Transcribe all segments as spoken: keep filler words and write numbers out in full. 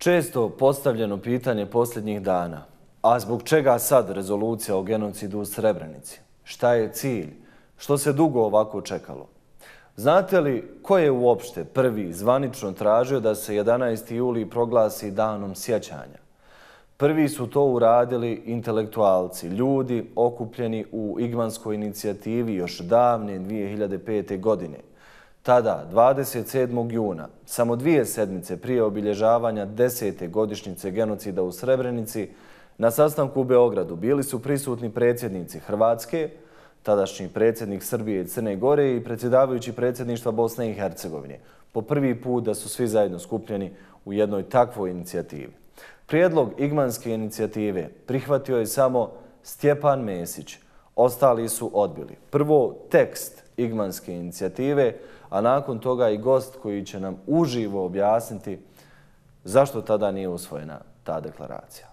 Često postavljeno pitanje posljednjih dana, a zbog čega sad rezolucija o genocidu u Srebrenici? Šta je cilj? Što se dugo ovako čekalo? Znate li ko je uopšte prvi zvanično tražio da se jedanaesti juli proglasi danom sjećanja? Prvi su to uradili intelektualci, ljudi okupljeni u Igmanskoj inicijativi još davne dvije hiljade pete. godine. Tada, dvadeset sedmog juna, samo dvije sedmice prije obilježavanja desete godišnjice genocida u Srebrenici, na sastanku u Beogradu bili su prisutni predsjednici Hrvatske, tadašnji predsjednik Srbije i Crne Gore i predsjedavajući predsjedništva Bosne i Hercegovine. Po prvi put da su svi zajedno skupljeni u jednoj takvoj inicijativi. Prijedlog Igmanske inicijative prihvatio je samo Stjepan Mesić. Ostali su odbili. Prvo tekst Igmanske inicijative, a nakon toga i gost koji će nam uživo objasniti zašto tada nije usvojena ta deklaracija.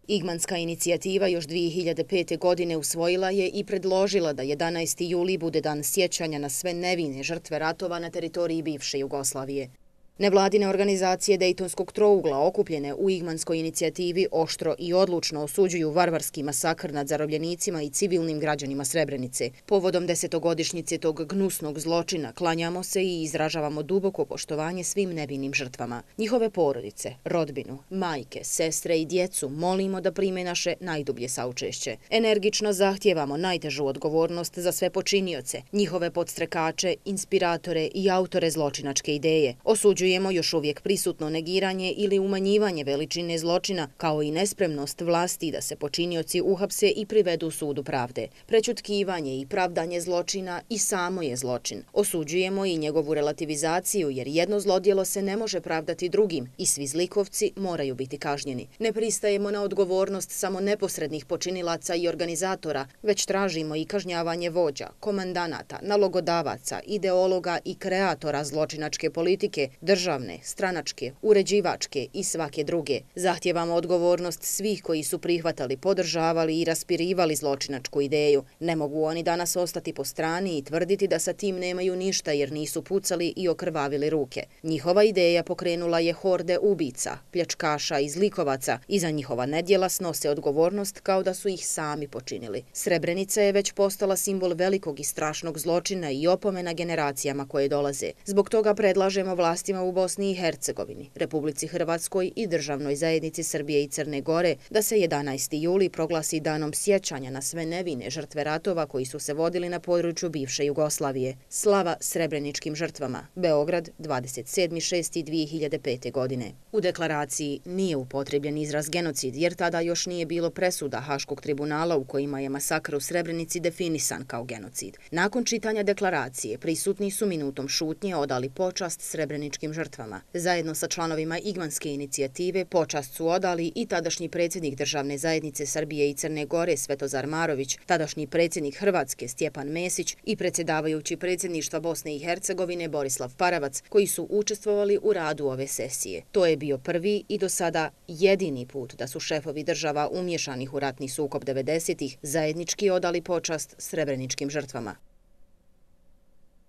Igmanska inicijativa još dvije hiljade pete. godine usvojila je i predložila da jedanaesti juli bude dan sjećanja na sve nevine žrtve ratova na teritoriji bivše Jugoslavije. Nevladine organizacije Dejtonskog trougla okupljene u Igmanskoj inicijativi oštro i odlučno osuđuju varvarski masakr nad zarobljenicima i civilnim građanima Srebrenice. Povodom desetogodišnjice tog gnusnog zločina klanjamo se i izražavamo duboko poštovanje svim nevinim žrtvama. Njihove porodice, rodbinu, majke, sestre i djecu molimo da prime naše najdublje saučešće. Energično zahtijevamo najtežu odgovornost za sve počinioce, njihove podstrekače, inspiratore i autore zločinačke ideje. Osuđujemo još uvijek prisutno negiranje ili umanjivanje veličine zločina, kao i nespremnost vlasti da se počinioci uhapse i privedu sudu pravde. Prećutkivanje i pravdanje zločina i samo je zločin. Osuđujemo i njegovu relativizaciju, jer jedno zlodjelo se ne može pravdati drugim i svi zlikovci moraju biti kažnjeni. Ne pristajemo na odgovornost samo neposrednih počinilaca i organizatora, već tražimo i kažnjavanje vođa, komandanata, nalogodavaca, ideologa i kreatora zločinačke politike, državne, stranačke, uređivačke i svake druge. Zahtijevamo odgovornost svih koji su prihvatali, podržavali i raspirivali zločinačku ideju. Ne mogu oni danas ostati po strani i tvrditi da sa tim nemaju ništa jer nisu pucali i okrvavili ruke. Njihova ideja pokrenula je horde ubica, pljačkaša i zlikovaca i za njihova nedjela snose odgovornost kao da su ih sami počinili. Srebrenica je već postala simbol velikog i strašnog zločina i opomena generacijama koje dolaze. Zbog toga predlažemo vlastima u Bosni i Hercegovini, Republici Hrvatskoj i državnoj zajednici Srbije i Crne Gore da se jedanaesti juli proglasi danom sjećanja na sve nevine žrtve ratova koji su se vodili na području bivše Jugoslavije. Slava srebreničkim žrtvama. Beograd, dvadeset sedmog šestog dvije hiljade pete. godine. U deklaraciji nije upotrebljen izraz genocid jer tada još nije bilo presuda Haškog tribunala u kojima je masakr u Srebrenici definisan kao genocid. Nakon čitanja deklaracije prisutni su minutom šutnje odali počast srebreničkim žrtvama. Zajedno sa članovima Igmanske inicijative počast su odali i tadašnji predsjednik državne zajednice Srbije i Crne Gore Svetozar Marović, tadašnji predsjednik Hrvatske Stjepan Mesić i predsjedavajući predsjedništva Bosne i Hercegovine Borislav Paravac, koji su učestvovali u radu ove sesije. To je bio prvi i do sada jedini put da su šefovi država umješanih u ratni sukob devedesetih zajednički odali počast srebreničkim žrtvama.